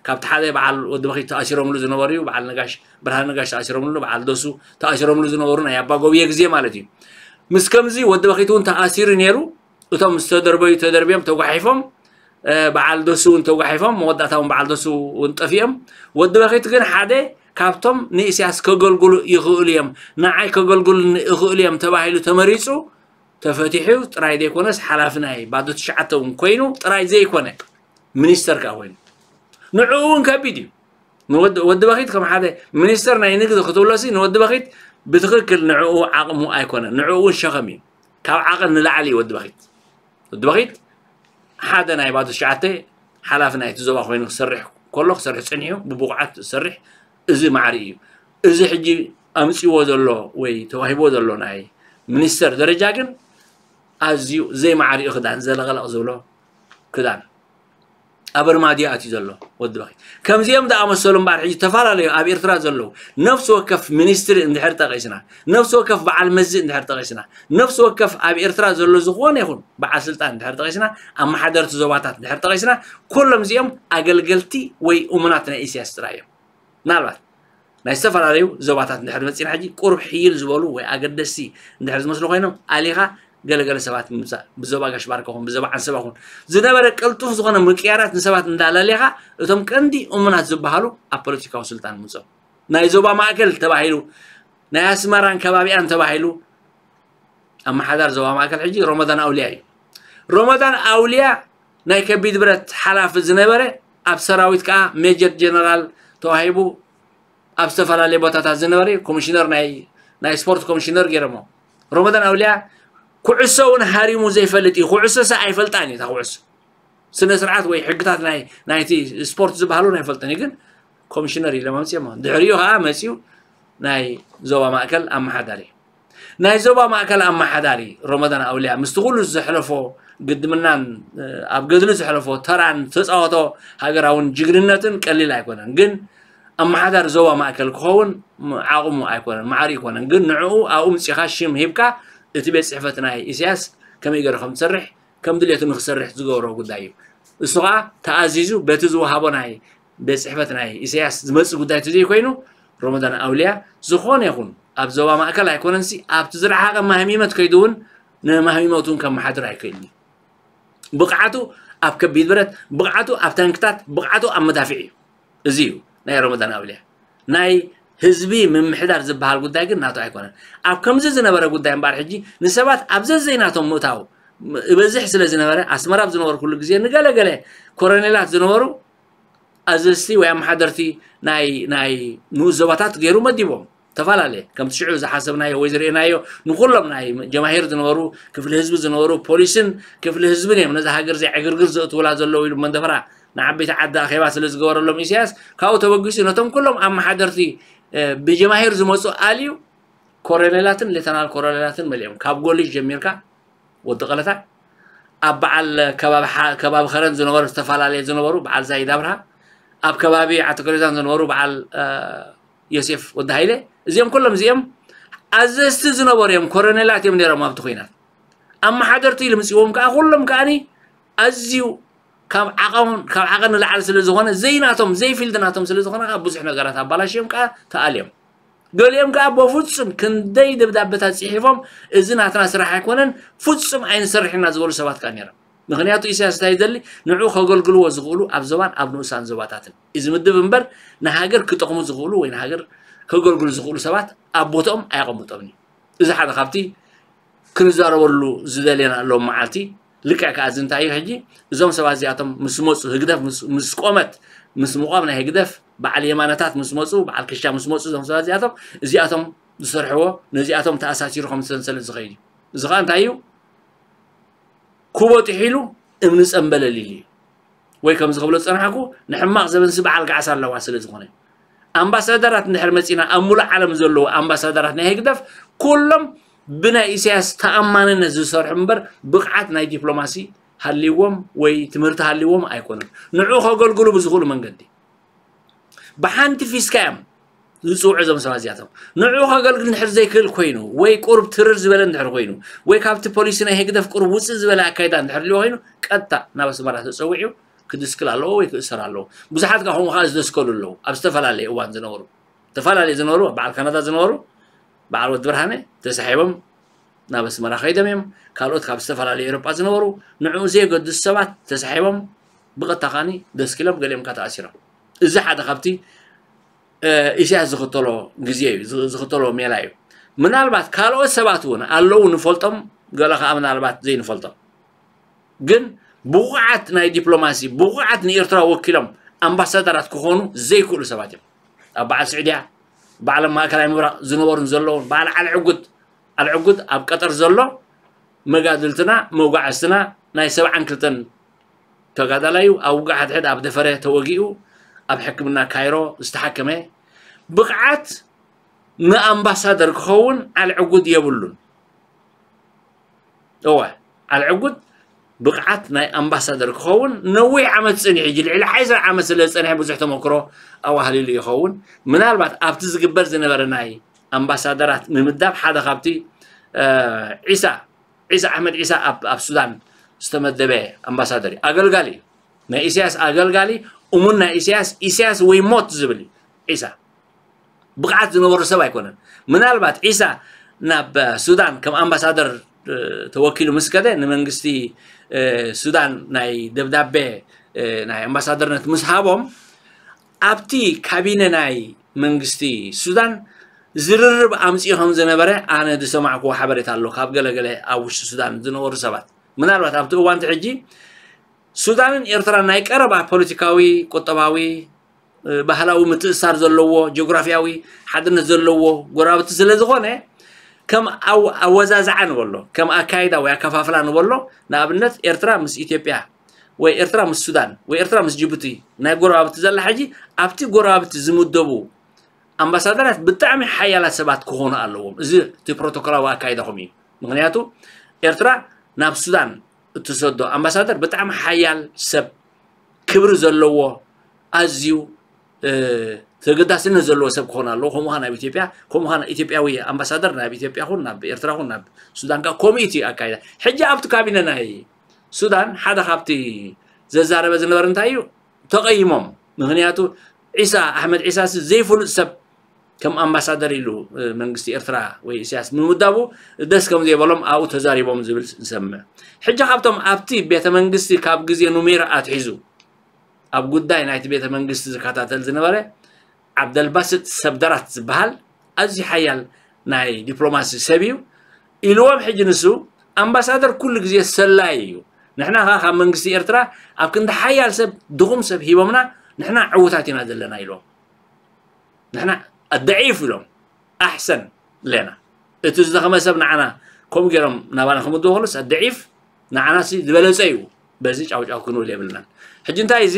ካብቲ ሓደ በዓል ወዲ በኺት ተኣሲሮምሉ ዝነበሩ እዩ በዓል ነጋሽ ብርሃን ነጋሽ ተኣሲሮምሉ በዓል ደሱ ተኣሲሮምሉ ዝነበሩ ናይ ኣባ ጎብየ ግዜ ማለት እዩ ምስ ከምዚ ወዲ በኺት እውን ተኣሲሩ ነይሩ እቶም ዝተደርበዩ ተደርብዮም ተጓሒፎም በዓል ደሱ እውን ተጓሒፎም መወዳእታ እውን በዓል ደሱ እውን ጠፊኦም ወዲ በኺት ግን ሓደ ካብቶም ንኢሳያስ ከገልግሉ ይኽእሉ እዮም ንዓይ ከገልግሉ ይኽእሉ እዮም ተባሂሉ ተመሪፁ ተፈቲሑ ጥራይ ዘይኮነስ ሓላፊ ናይ ባዶ ትሽዓተ እውን ኮይኑ ጥራይ ዘይኮነ ሚኒስተር ከዓ ኮይኑ ንዕኡ እውን ከቢድ እዩ ንወዲ በኺት ከም ሓደ ሚኒስተር ናይ ንግዲ ክትብሎሲ ንወዲ በኺት ብትኽክል ንዕኡ ዓቕሙ ኣይኮነ ንዕኡ እውን ሸኸም እዩ ካብ ዓቐን ንላዕሊ እዩ ወዲ በኺት ወዲ በኺት ሓደ ናይ ባዶ ትሽዓተ ሓላፊ ናይቲ ዞባ ኮይኑ ክሰርሕ ከሎ ክሰርሕ ጸኒሑ፣ ብብቑዓት ዝሰርሕ፣ እዚ ማዕሪ እዩ። እዚ ሕጂ ኣምጺዎ ዘሎ ወይ ተዋሂቦ ዘሎ ናይ ሚኒስተር ደረጃ ግን ኣዝዩ ዘይማዕሪኡ ክዳን፣ ዘለቐለቕ ዝብሎ ክዳን፣ ኣብ ኣርማድዮ ኣትዩ ዘሎ ወዲ በኺ። ከምዚኦም ዝኣመሰሉ እምበኣር ሕጂ ዝተፈላለዩ ኣብ ኤርትራ ዘለዉ ነፍሲ ወከፍ ሚኒስትሪ እንድሕር ጠቒስና፣ ነፍሲ ወከፍ በዓል መዚ እንድሕር ጠቒስና፣ ነፍሲ ወከፍ ኣብ ኤርትራ ዘሎ ዝኾነ ይኹን በዓል ስልጣን እንድሕር ጠቒስና፣ ኣመሓደርቲ ዞባታት እንድሕር ጠቒስና፣ ኩሎም እዚኦም ኣገልገልቲ ወይ እሙናት ናይ ኢሳያስ ጥራይ እዮም። ምናልባት ናይ ዝተፈላለዩ ዞባታት እንድሕር መፂና ሕጂ ቁሩብ ሕይል ዝበሉ ወይ ኣገደስቲ እንድሕር ዝመስሉ ኮይኖም ኣሊኻ ገለገለ ሰባት ምምፃእ፣ ብዞባ ጋሽ ባርካ ኹን ብዞባ ዓንሰባ ኹን ዝነበረ ቅልጡፍ ዝኾነ ምቅያራት ንሰባት እንዳለሌኻ፣ እቶም ቀንዲ እሙናት ዝበሃሉ ኣብ ፖለቲካዊ ስልጣን ምፅኦም። ናይ ዞባ ማእከል ተባሂሉ፣ ናይ ኣስመራን ከባቢኣን ተባሂሉ፣ ኣመሓዳር ዞባ ማእከል ሕጂ ሮመዳን ኣውልያ እዩ። ሮመዳን ኣውልያ ናይ ከቢድ ብረት ሓላፊ ዝነበረ፣ ኣብ ሰራዊት ከዓ ሜጀር ጀነራል ተዋሂቡ፣ ኣብ ዝተፈላለየ ቦታታት ዝነበረ ኮሚሽነር ናይ ናይ ስፖርት ኮሚሽነር ገይሮሞ። ሮመዳን ኣውልያ ኩዕሶ እውን ሃሪሙ ዘይፈልጥ እዩ። ኩዕሶ ሰ ኣይፈልጣን እዩ። እታ ኩዕሶ ስነ ስርዓት ወይ ሕግታት ናይ ናይቲ ስፖርት ዝበሃሉ ኣይፈልጥን እዩ። ግን ኮሚሽነር ኢሎም ኣምፅኦሞ። ድሕሪኡ ከዓ መፂኡ ናይ ዞባ ማእከል ኣመሓዳሪ። ናይ ዞባ ማእከል ኣመሓዳሪ ሮመዳን ኣውልያ ምስቲ ኩሉ ዘሕለፎ ግድምናን ኣብ ገድሊ ዘሕለፎ ተራን ተፃወቶ ሃገራውን ጅግንነትን ቀሊል ኣይኮነን። ግን ኣመሓዳሪ ዞባ ማእከል ክኸውን ዓቕሙ ኣይኮነን፣ ማዕሪ ኣይኮነን። ግን ንዕኡ ኣብኡ ምፂኻ ሽም ሂብካ እቲ ቤት ፅሕፈት ናይ ኢሳያስ ከመይ ገይሩ ከም ዝሰርሕ ከም ድሌቱ ንክሰርሕ ዝገብሮ ጉዳይ እዩ። እሱ ከዓ ተኣዚዙ በቲ ዝወሃቦ ናይ ቤት ፅሕፈት ናይ ኢሳያስ ዝመፅእ ጉዳይ ተዘይኮይኑ ሮመዳን ኣውልያ ዝኾነ ይኹን ኣብ ዞባ ማእከል ኣይኮነንሲ ኣብቲ ዝረሓቐ ማህሚመት ከይዱ እውን ንማህሚመቱ እውን ከመሓድር ኣይክእልን እዩ። ብቕዓቱ ኣብ ከቢድ ብረት፣ ብቕዓቱ ኣብ ታንክታት፣ ብቕዓቱ ኣብ መዳፍዕ እዩ። እዚ እዩ ናይ ሮመዳን ኣውልያ። ናይ ህዝቢ ምምሕዳር ዝበሃል ጉዳይ ግን ናቱ ኣይኮነን። ኣብ ከምዚ ዝነበረ ጉዳይ እምበኣር ሕጂ ንሰባት ኣብ ዘዘይናቶም ምእታው እበዝሕ ስለ ዝነበረ ኣስመራ ኣብ ዝነበርኩሉ ግዜ ንገለገለ ኮረኔላት ዝነበሩ ኣዘዝቲ ወይ ኣመሓደርቲ ናይ ናይ ንኡስ ዞባታት ገይሩ መዲቦም። ተፈላለየ ከምቲ ሽዑ ዝሓሰብናዮ ወይ ዝርእናዮ ንኩሎም ናይ ጀማሂር ዝነበሩ ክፍሊ ህዝቢ ዝነበሩ ፖሊስን ክፍሊ ህዝብን እዮም ነዚ ሃገር እዚኣ ዕግርግር ዘእትውላ ዘለዉ ኢሉ መንደፈራ ንዓበይቲ ዓዲ ኣኼባ ስለ ዝገበረሎም ኢሳያስ ካብኡ ተበጊሱ ነቶም ኩሎም ኣመሓደርቲ ብጀማሂር ዝመፁ ኣልዩ ኮረኔላትን ሌተናል ኮረኔላትን መሊኦም ካብ ጎሊሽ ጀሚርካ ወዲ ቀለታ ኣብ በዓል ከባቢ ከረን ዝነበሩ ዝተፈላለየ ዝነበሩ በዓል ዛይድ ኣብርሃ ኣብ ከባቢ ዓተከሬዛን ዝነበሩ በዓል ዮሴፍ ወዲ ሃይለ እዚኦም ኩሎም እዚኦም ኣዘዝቲ ዝነበሩ እዮም። ኮረኔላት እዮም ነይሮም ኣብቲ ኩናት ኣመሓደርቲ ኢሉ ምፅዎም ከዓ ኩሎም ከዓኒ ኣዝዩ ካብ ዓቐን ካብ ዓቐን ንላዕሊ ስለ ዝኾነ ዘይናቶም ዘይፊልድ ናቶም ስለ ዝኾነ ከዓ ብዙሕ ነገራት ኣባላሽዮም ከዓ ተኣልዮም። ገሊኦም ከዓ በፍጹም ክንደይ ደብዳበታት ፅሒፎም እዚ ናትና ስራሕ ኣይኮነን ፍጹም ኣይንሰርሕና ዝበሉ ሰባት ከዓ ነይሮም። ምክንያቱ ኢሳያስ እንታይ ይደሊ ንዑ ከገልግልዎ ዝኽእሉ ኣብ ዞባን ኣብ ንኡሳን ዞባታትን እዩ ዝምድብ እምበር ንሃገር ክጠቕሙ ዝኽእሉ ወይ ንሃገር ከገልግሉ ዝኽእሉ ሰባት ኣብ ቦትኦም ኣየቐምጦምን እዩ። እዚ ሓደ ካብቲ ክንዛረበሉ ዝደለና ሎም መዓልቲ ልክዕ ከኣ እዚ እንታይ እዩ ሕጂ እዞም ሰባት እዚኣቶም ምስ መፁ ህግደፍ ምስ ቆመት ምስ ምቋም ናይ ህግደፍ በዓል የማነታት ምስ መፁ በዓል ክሻ ምስ መፁ እዞም ሰባት እዚኣቶም እዚኣቶም ዝሰርሕዎ ነዚኣቶም ተኣሳሲሩ ከም ሰንሰለት ዝኸይድ እዩ። እዚ ከዓ እንታይ እዩ ኩቦ ጥሒሉ እምኒ ፀምበለል ኢሉ እዩ። ወይ ከምዚ ክብሎ ዝፀናሕኩ ንሕማቕ ዘበንሲ በዓል ገዓስ ኣለዋ ስለ ዝኾነ ኣምባሳደራት እንድሕር መፂና ኣብ ሙሉእ ዓለም ዘለዉ ኣምባሳደራት ናይ ህግደፍ ኩሎም ብናይ ኢሳያስ ተኣማንነት ዝሰርሑ እምበር ብቕዓት ናይ ዲፕሎማሲ ሃልይዎም ወይ ትምህርቲ ሃልይዎም ኣይኮኑን። ንዑ ከገልግሉ ብዝኽእሉ መንገዲ ብሓንቲ ፊስካ እዮም ዝፅውዑ እዞም ሰባት እዚኣቶም። ንዑ ከገልግል እንድሕር ዘይክእል ኮይኑ ወይ ቁሩብ ትርር ዝበለ እንድሕር ኮይኑ ወይ ካብቲ ፖሊሲ ናይ ህግደፍ ቁሩብ ውፅእ ዝበለ ኣካይዳ እንድሕር ልዮ ኮይኑ ቀጥታ ናብ ኣስመራ ተፀዊዑ ክድስክል ኣለዎ ወይ ክእሰር ኣለዎ። ብዙሓት ከዓ ከምኡ ከዓ ዝደስከሉ ኣለዉ ኣብ ዝተፈላለየ እዋን ዝነበሩ ዝተፈላለየ ዝነበሩ በዓል ካናዳ ዝነበሩ በዓል ወዲ ብርሃነ ተሳሒቦም ናብ ኣስመራ ከይዶም እዮም። ካልኦት ካብ ዝተፈላለየ ኤሮጳ ዝነበሩ ንዕኡ ዘየገድሱ ሰባት ተሳሒቦም ብቐጥታ ከዓኒ ደስኪሎም ገሊኦም ከዓ ተኣሲሮም። እዚ ሓደ ካብቲ ኢሳያስ ዝኽተሎ ግዜ እዩ ዝኽተሎ ሜላ እዩ። ምናልባት ካልኦት ሰባት እውን ኣለዉ ንፈልጦም ገለ ከዓ ምናልባት ዘይንፈልጦም ግን ብቑዓት ናይ ዲፕሎማሲ ብቑዓት ንኤርትራ ወኪሎም ኣምባሳደራት ክኾኑ ዘይክእሉ ሰባት እዮም። ኣብ በዓል ስዑድያ በዓል ማእከላይ ምብራቕ ዝነበሩን ዘለውን በዓል ዓሊ ዕጉድ ዓሊ ዕጉድ ኣብ ቀጠር ዘሎ መጋድልትና መጓዕዝትና ናይ ሰብዓን ክልተን ተጋዳላዩ ኣብ ውግእ ሓድሕድ ኣብ ደፈረ ተወጊኡ ኣብ ሕክምና ካይሮ ዝተሓከመ ብቕዓት ንኣምባሳደር ክኸውን ዓልዕጉድ የብሉን። እወ፣ ዓልዕጉድ ብቕዓት ናይ ኣምባሳደር ክኸውን ነዊሕ ዓመት ጸኒሑ፣ ሕጂ ልዕሊ ሓይሳ ዓመት ስለ ዝጸንሐ ብዙሕ ተመክሮ ኣዋህሊሉ ይኸውን። ምናልባት ኣብቲ ዝግበር ዝነበረ ናይ ኣምባሳደራት ምምዳብ ሓደ ካብቲ ዒሳ ዒሳ ኣሕመድ ዒሳ ኣብ ኣብ ሱዳን ዝተመደበ ኣምባሳደር እዩ። ኣገልጋሊ እዩ። ናይ ኢሳያስ ኣገልጋሊ፣ እሙን ናይ ኢሳያስ፣ ኢሳያስ ወይ ሞት ዝብል እዩ። ዒሳ ብቕዓት ዝነበሩ ሰብ ኣይኮነን። ምናልባት ዒሳ ናብ ሱዳን ከም ኣምባሳደር ተወኪሉ ምስ ከደ ንመንግስቲ ሱዳን ናይ ደብዳቤ ናይ ኣምባሳደርነት ምስ ሃቦም ኣብቲ ካቢነ ናይ መንግስቲ ሱዳን ዝርርብ ኣምፅኡ ከም ዝነበረ ኣነ ዝሰማዕክዎ ሓበሬታ ኣሎ ካብ ገለገለ ኣብ ውሽጢ ሱዳን ዝነበሩ ሰባት። ምናልባት ኣብቲ እዋንቲ ሕጂ ሱዳንን ኤርትራን ናይ ቀረባ ፖለቲካዊ፣ ቁጠባዊ፣ ባህላዊ ምትእሳር ዘለዎ፣ ጂኦግራፊያዊ ሓድነት ዘለዎ ጎረባብቲ ስለ ዝኾነ ከም ኣወዛዝዓ ንበሎ፣ ከም ኣካይዳ ወይ ኣከፋፍላ ንበሎ፣ ንኣብነት ኤርትራ ምስ ኢትዮጵያ ወይ ኤርትራ ምስ ሱዳን ወይ ኤርትራ ምስ ጅቡቲ ናይ ጎረባብቲ ዘላ ሕጂ ኣብቲ ጎረባብቲ ዝምደቡ ኣምባሳደራት ብጣዕሚ ሓያላት ሰባት ክኾኑ ኣለዎም። እዚ እቲ ፕሮቶኮላዊ ኣካይዳኹም እዩ። ምክንያቱ ኤርትራ ናብ ሱዳን እትሰዶ ኣምባሳደር ብጣዕሚ ሓያል ሰብ፣ ክብሪ ዘለዎ፣ ኣዝዩ ተገዳስነት ዘለዎ ሰብ ክኾን ኣለዎ። ከምኡ ናብ ኢትዮጵያ ከምኡ ኢትዮጵያዊ ኣምባሳደር ናብ ኢትዮጵያ ኹን ናብ ኤርትራ ኹን ናብ ሱዳን ከ ከምኡ እቲ ኣካይዳ። ሕጂ ኣብቲ ካቢነ ናይ ሱዳን ሓደ ካብቲ ዘዛረበ ዝነበረ እንታይ እዩ? ተቐይሞም። ምክንያቱ ዒሳ ኣሕመድ ዒሳ ሲ ዘይፍሉጥ ሰብ ከም ኣምባሳደር ኢሉ መንግስቲ ኤርትራ ወይ ኢሳያስ ምምዳቡ ደስ ከም ዘይበሎም ኣብኡ ተዛሪቦም ዝብል ንሰምዕ። ሕጂ ካብቶም ኣብቲ ቤተ መንግስቲ ካብ ግዜ ኑሜራ ኣትሒዙ ኣብ ጉዳይ ናይቲ ቤተ መንግስቲ ዝከታተል ዝነበረ ዓብደልባስጥ ሰብደራት ዝበሃል ኣዝዩ ሓያል ናይ ዲፕሎማሲ ሰብ እዩ ኢልዎም። ሕጂ ንሱ ኣምባሳደር ኩሉ ግዜ ሰላይ እዩ። ንሕና ከ ካብ መንግስቲ ኤርትራ ኣብ ክንዲ ሓያል ሰብ ድኹም ሰብ ሂቦምና ንሕና ዕውታት ኢና ዘለና ኢልዎም። ንሕና ኣደዒፍ ኢሎም ኣሕሰን ለና እቲ ዝደኸመ ሰብ ንዓና ከምኡ ገይሮም ናባና ክምድቡ ከሎስ ኣደዒፍ ንዓና ሲ ዝበለጸ እዩ። በዚ ጫውጫው ክንብል የብልናን። ሕጂ እንታይ እዚ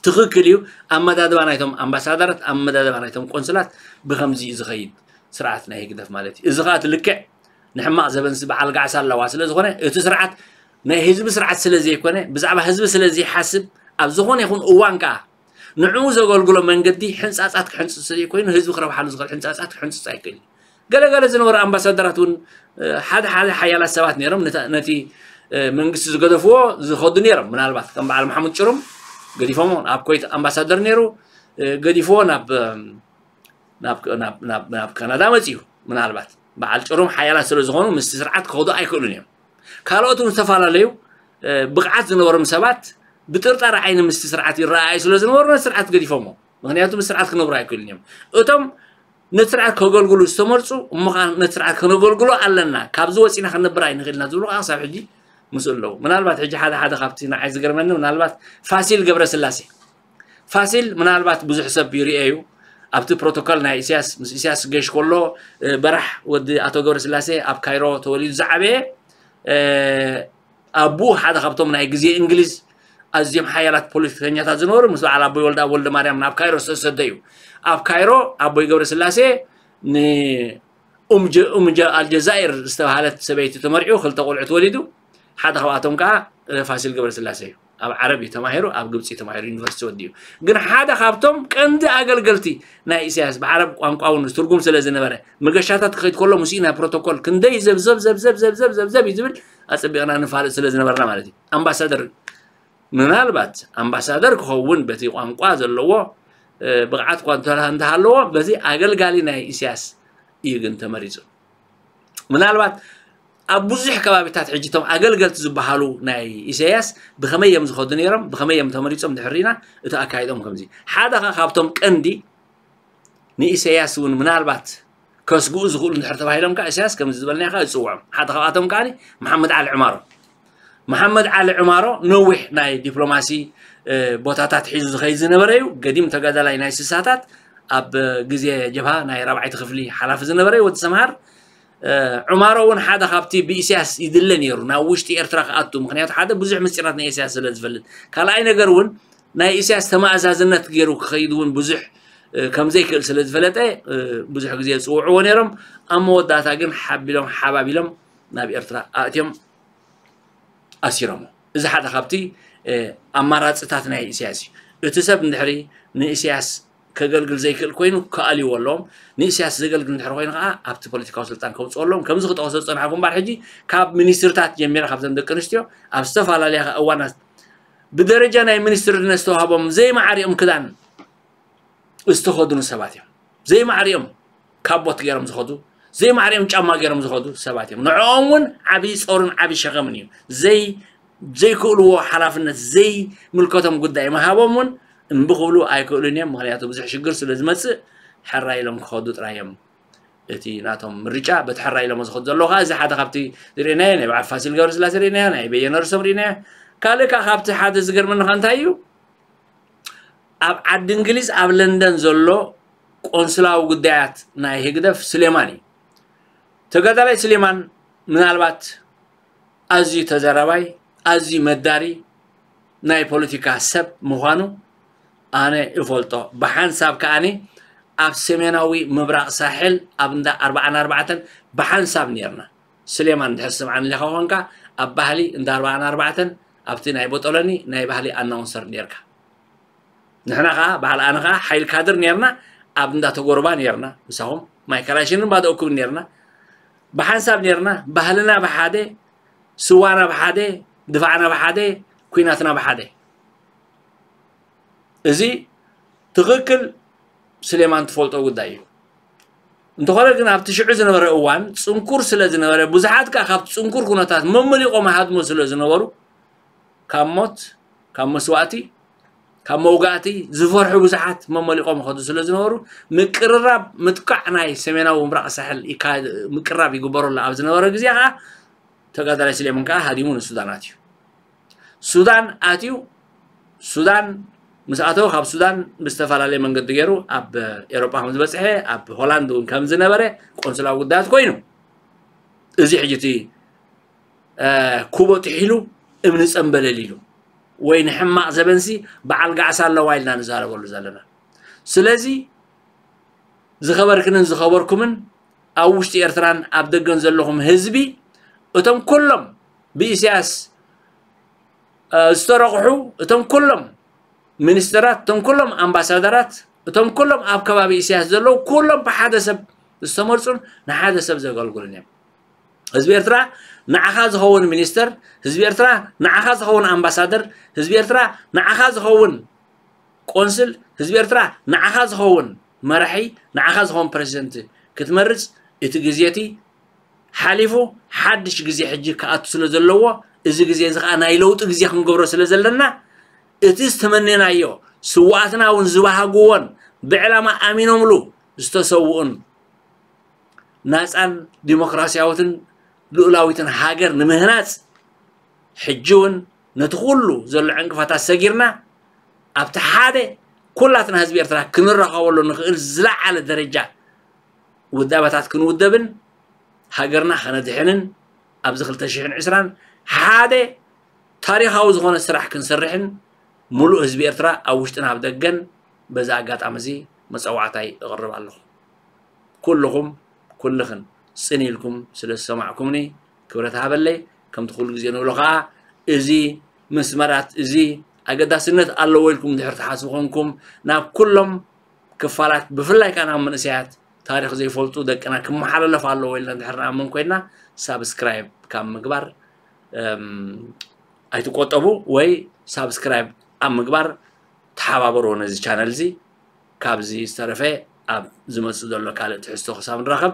ትኽክል እዩ። ኣመዳድባ ናይቶም ኣምባሳደራት ኣመዳድባ ናይቶም ቆንስላት ብከምዚ እዩ ዝኸይድ ስርዓት ናይ ህግደፍ ማለት እዩ። እዚ ከዓ እቲ ልክዕ ንሕማቕ ዘበንሲ በዓል ጋዕሳ ኣለዋ ስለ ዝኾነ እቲ ስርዓት ናይ ህዝቢ ስርዓት ስለ ዘይኮነ ብዛዕባ ህዝቢ ስለ ዘይሓስብ ኣብ ዝኾነ ይኹን እዋን ከዓ ንዕኡ ዘገልግሎ መንገዲ ሕንፃፃት ክሕንፅፅ ዘይኮይኑ ህዝቢ ክረብሓሉ ዝኽእል ሕንፃፃት ክሕንፅፅ ኣይክእል እዩ። ገለገለ ዝነበሩ ኣምባሳደራት እውን ሓደ ሓደ ሓያላት ሰባት ነይሮም ነቲ መንግስቲ ዝገደፍዎ ዝኸዱ ነይሮም። ምናልባት ከም በዓል መሓሙድ ጭሩም ገዲፎሞ ኣብ ኮይት ኣምባሳደር ነይሩ ገዲፍዎ ናብ ናብ ካናዳ መፅዩ። ምናልባት በዓል ጭሩም ሓያላት ስለ ዝኾኑ ምስቲ ስርዓት ክኸዱ ኣይክእሉን እዮም። ካልኦት እውን ዝተፈላለዩ ብቕዓት ዝነበሮም ሰባት ብጥርጣረ ዓይኒ ምስቲ ስርዓት ይረኣዩ ስለ ዝነበሩ ነቲ ስርዓት ገዲፎሞ። ምክንያቱ ምስ ስርዓት ክነብሩ ኣይክእሉን እዮም። እቶም ነቲ ስርዓት ከገልግሉ ዝተመርፁ እሞ ከዓ ነቲ ስርዓት ከነገልግሎ ኣለና፣ ካብዚ ወፂና ክንነብር ኣይንኽእልና ዝብሉ ከዓ ክሳብ ሕጂ ምስኡ ኣለዉ። ምናልባት ሕጂ ሓደ ሓደ ካብቲ ንዓይ ዝገርመኒ ምናልባት ፋሲል ገብረስላሴ ፋሲል ምናልባት ብዙሕ ሰብ ይርኤ እዩ ኣብቲ ፕሮቶኮል ናይ ኢሳያስ ምስ ኢሳያስ ገሽ ከሎ በራሕ ወዲ ኣቶ ገብረስላሴ ኣብ ካይሮ ተወሊዱ ዝዓበየ ኣቡኡ ሓደ ካብቶም ናይ ግዜ እንግሊዝ ኣዝዮም ሓያላት ፖለቲከኛታት ዝነበሩ ምስ በዓል ኣቦይ ወልደ ወልደ ማርያም ናብ ካይሮ ዝተሰደ እዩ። ኣብ ካይሮ ኣቦይ ገብረስላሴ ንኡምጀ ኣልጀዛይር ዝተባሃለት ሰበይቲ ተመርዒው ክልተ ቆልዑ ተወሊዱ ሓደ ካብኣቶም ከዓ ፋሲል ገብረስላሴ እዩ። ኣብ ዓረብ እዩ ተማሂሩ ኣብ ግብፂ ተማሂሩ ዩኒቨርሲቲ ወዲኡ። ግን ሓደ ካብቶም ቀንዲ ኣገልገልቲ ናይ ኢሳያስ ብዓረብ ቋንቋ እውን ትርጉም ስለ ዝነበረ መገሻታት ክኸይድ ከሎ ምስኡ ናይ ፕሮቶኮል ክንደይ ዘብዘብ ዘብዘብ ዘብዘብ ዘብዘብ እዩ ዝብል ኣፀቢቕና ንፋልጥ ስለ ዝነበርና ማለት እዩ። ኣምባሳደር ምናልባት ኣምባሳደር ክኸውን በቲ ቋንቋ ዘለዎ ብቕዓት እኳ እንተሃለዎ በዚ ኣገልጋሊ ናይ ኢሳያስ እዩ ግን ተመሪፁ። ምናልባት ኣብ ብዙሕ ከባቢታት ሕጂ እቶም ኣገልገልቲ ዝበሃሉ ናይ ኢሳያስ ብኸመይ እዮም ዝኸዱ ነይሮም ብኸመይ እዮም ተመሪፆም ድሕሪና እቲ ኣካይዶም ከምዚ ሓደ ከዓ ካብቶም ቀንዲ ንኢሳያስ እውን ምናልባት ከስግኡ ዝኽእሉ እንድሕር ተባሂሎም ከዓ ኢሳያስ ከምዚ ዝበልናዮ ከዓ ይፅውዖም። ሓደ ካብኣቶም ከዓ መሓመድ ዓሊ ዕማሮ መሓመድ ዓሊ ዕማሮ ነዊሕ ናይ ዲፕሎማሲ ቦታታት ሒዙ ዝኸይድ ዝነበረ እዩ። ገዲም ተጋዳላይ ናይ ስሳታት ኣብ ግዜ ጀብሃ ናይ ራብዓይቲ ክፍሊ ሓላፊ ዝነበረ እዩ ወዲ ሰምሃር። ዑማሮ እውን ሓደ ካብቲ ብኢሳያስ ይድለ ነይሩ ናብ ውሽጢ ኤርትራ ክኣቱ። ምክንያቱ ሓደ ብዙሕ ምስጢራት ናይ ኢሳያስ ስለ ዝፈልጥ፣ ካልኣይ ነገር እውን ናይ ኢሳያስ ተማእዛዝነት ገይሩ ክኸይድ እውን ብዙሕ ከም ዘይክእል ስለ ዝፈለጠ ብዙሕ ግዜ ዝፅውዕዎ ነይሮም። ኣብ መወዳእታ ግን ሓቢሎም ሓባቢሎም ናብ ኤርትራ ኣእትዮም ኣሲሮሞ። እዚ ሓደ ካብቲ ኣማራፅታት ናይ ኢሳያስ እዩ። እቲ ሰብ እንድሕሪ ንኢሳያስ ከገልግል ዘይክእል ኮይኑ ክኣልይዎ ኣለዎም። ንኢሳያስ ዘገልግል እንድሕሪ ኮይኑ ከዓ ኣብቲ ፖለቲካዊ ስልጣን ከውፅኦ ኣለዎም። ከምዚ ክጠቕሶ ዝፀናሕኩ እምበር ሕጂ ካብ ሚኒስትርታት ጀሚረ ካብተን ደቂ ኣንስትዮ ኣብ ዝተፈላለያ እዋናት ብደረጃ ናይ ሚኒስትርነት ዝተዋህቦም ዘይማዕሪኦም ክዳን ዝተኸድኑ ሰባት እዮም። ዘይማዕሪኦም ካቦት ገይሮም ዝኸዱ ዘይማዕሪኦም ጫማ ገይሮም ዝኸዱ ሰባት እዮም። ንዕኦም እውን ዓብዪ ፆርን ዓብዪ ሸኸምን እዩ። ዘይ ዘይክእልዎ ሓላፍነት ዘይምልከቶም ጉዳይ ምሃቦም እውን እምቢ ክብሉ ኣይክእሉን እዮም። ምክንያቱ ብዙሕ ሽግር ስለ ዝመፅእ ሕራይ ኢሎም ክኸዱ ጥራይ እዮም። እቲ ናቶም ምርጫ በቲ ሕራይ ኢሎም ዝኸዱ ዘለዉ ከዓ እዚ ሓደ ካብቲ ዝርእናዮ ናይ በዓል ፋሲል ገብረስላሴ ርእናዮ ናይ በየነ ርሶም ርእናዮ። ካልእ ከዓ ካብቲ ሓደ ዝገርመኒ ከዓ እንታይ እዩ ኣብ ዓዲ እንግሊዝ ኣብ ለንደን ዘሎ ቆንስላዊ ጉዳያት ናይ ህግደፍ ስሌማን እዩ። ተጋዳላይ ስሌማን ምናልባት ኣዝዩ ተዛራባይ ኣዝዩ መዳሪ ናይ ፖለቲካ ሰብ ምዃኑ ኣነ እፈልጦ። ብሓንሳብ ከኣኒ ኣብ ሰሜናዊ ምብራቕ ሳሕል ኣብ እንዳ ኣርባዓን ኣርባዕተን ብሓንሳብ ነርና። ስሌማን እንድሕር ስምዓኒ ኢኻ ኮንካ ኣብ ባህሊ እንዳ ኣርባዓን ኣርባዕተን ኣብቲ ናይ ቦጦሎኒ ናይ ባህሊ ኣናውንሰር ነርካ። ንሕና ከዓ በዓል ኣነ ከዓ ሓይል ካድር ነርና ኣብ እንዳ ተጎርባ ነርና ምሳኹም ማይ ካላሽንን ባዶ እኩብ ነርና ብሓንሳብ ነርና ባህልና ብሓደ ስዋና ብሓደ ድፋዕና ብሓደ ኩናትና ብሓደ። እዚ ትኽክል ስሌማን ትፈልጦ ጉዳይ እዩ። እንተኾነ ግን ኣብቲ ሽዑ ዝነበረ እዋን ፅንኩር ስለ ዝነበረ ብዙሓት ከዓ ካብቲ ፅንኩር ኩነታት መመሊቆም ሃድሞ ስለ ዝነበሩ ካብ ሞት ካብ መስዋእቲ ካብ መውጋእቲ ዝፈርሑ ብዙሓት መመሊቆም ይኸዱ ስለ ዝነበሩ ምቅርራብ ምጥቃዕ ናይ ሰሜናዊ ምብራቕ ሳሕል ይካ- ምቅርራብ ይግበረሉ ኣብ ዝነበረ ግዜ ከዓ ተጋዳላይ ስሌማን ከዓ ሃዲሙ ንሱዳን ኣትዩ። ሱዳን ኣትዩ ሱዳን ምስ ኣተወ ካብ ሱዳን ብዝተፈላለየ መንገዲ ገይሩ ኣብ ኤሮጳ ከም ዝበፅሐ ኣብ ሆላንድ እውን ከም ዝነበረ ቆንስላዊ ጉዳያት ኮይኑ እዚ ሕጂ እቲ ኩቦ ጥሒሉ እምኒ ፀምበለል ኢሉ ወይ ንሕማቕ ዘበንሲ በዓል ጋዕሳ ኣለዋ ኢልና ንዛረበሉ ዘለና። ስለዚ ዝኸበርክንን ዝኸበርኩምን ኣብ ውሽጢ ኤርትራን ኣብ ደገን ዘለኹም ህዝቢ እቶም ኩሎም ብኢሳያስ ዝተረቑሑ እቶም ኩሎም ሚኒስተራት እቶም ኩሎም ኣምባሳደራት እቶም ኩሎም ኣብ ከባቢ ኢሳያስ ዘለዉ ኩሎም ብሓደ ሰብ ዝተመርፁን ንሓደ ሰብ ዘገልግሉን እዮም። ህዝቢ ኤርትራ ንዓኻ ዝኸውን ሚኒስተር፣ ህዝቢ ኤርትራ ንዓኻ ዝኸውን ኣምባሳደር፣ ህዝቢ ኤርትራ ንዓኻ ዝኸውን ቆንስል፣ ህዝቢ ኤርትራ ንዓኻ ዝኸውን መራሒ፣ ንዓኻ ዝኸውን ፕረዚደንት ክትመርፅ እቲ ግዜ እቲ ሓሊፉ ሓድሽ ግዜ ሕጂ ክኣቱ ስለ ዘለዎ እዚ ግዜ እዚ ከዓ ናይ ለውጢ ግዜ ክንገብሮ ስለ ዘለና እቲ ዝተመነናዮ ስዋኣትና እውን ዝበሃግዎን ብዕላማ ኣሚኖምሉ ዝተሰውኡን ናፃን ዲሞክራሲያዊትን ልኡላዊትን ሃገር ንምህናፅ ሕጂ እውን ነቲ ኩሉ ዘሎ ዕንቅፋታት ሰጊርና ኣብቲ ሓደ ኩላትና ህዝቢ ኤርትራ ክንራኸበሉ ንኽእል ዝለዓለ ደረጃ ውዳበታት ክንውደብን ሃገርና ከነድሕንን ኣብዚ ክልተ ሽሕን ዕስራን ሓደ ታሪኻዊ ዝኾነ ስራሕ ክንሰርሕን ሙሉእ ህዝቢ ኤርትራ ኣብ ውሽጥን ኣብ ደገን በዚ ኣጋጣሚ እዚ መፀዋዕታይ እቕርብ ኣለኹ። ኩልኹም ኩልኽን ፅን ኢልኩም ስለ ዝሰማዕኩምኒ ክብረት ሃበለይ። ከምቲ ኩሉ ግዜ ንብሎ ከዓ እዚ መስመራት እዚ ኣገዳስነት ኣለዎ ኢልኩም ድሕር ትሓስቡ ኮንኩም ናብ ኩሎም ክፋላት ብፍላይ ከዓ ናብ መንእሰያት ታሪኽ ዘይፈልጡ ደቅና ክመሓላለፍ ኣለዎ ኢልና ድሕር ንኣምን ኮይና ሳብስክራይብ ካብ ምግባር ኣይትቆጠቡ ወይ ሳብስክራይብ ኣብ ምግባር ተሓባበርዎ ነዚ ቻነል እዚ። ካብዚ ዝተረፈ ኣብ ዝመፅእ ዘሎ ካልእ ትሕዝቶ ክሳብ ንራኸብ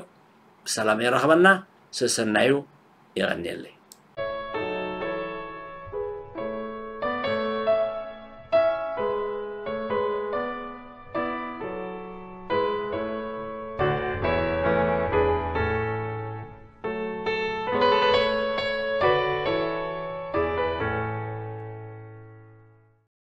ብሰላም የራኽበና። ሰሰናዩ የቐንየለይ።